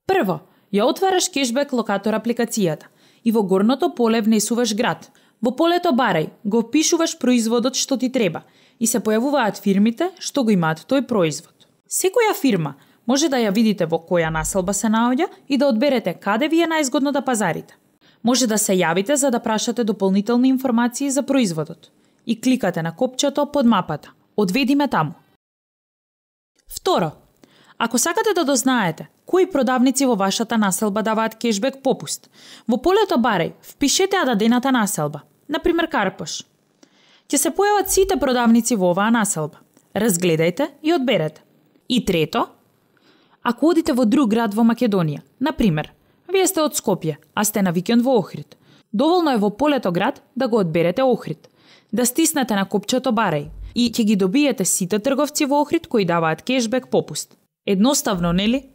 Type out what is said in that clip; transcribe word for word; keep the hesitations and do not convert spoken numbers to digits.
Прво, ја отвараш кешбек локатор апликацијата и во горното поле внесуваш град. Во полето барај го впишуваш производот што ти треба и се појавуваат фирмите што го имаат тој производ. Секоја фирма може да ја видите во која населба се наоѓа и да одберете каде ви е најзгодно да пазарите. Може да се јавите за да прашате дополнителни информации за производот и кликате на копчето под мапата "Одведи ме таму". Второ, ако сакате да дознаете кои продавници во вашата населба даваат кешбек попуст, во полето барај впишете ја дадената населба, например Карпош. Ќе се појават сите продавници во оваа населба. Разгледајте и одберете. И трето, ако одите во друг град во Македонија, например, вие сте од Скопје, а сте на викенд во Охрид, доволно е во полето град да го одберете Охрид, да стиснете на копчето барај и ќе ги добиете сите трговци во Охрид кои даваат кешбек попуст. Едноставно, нели?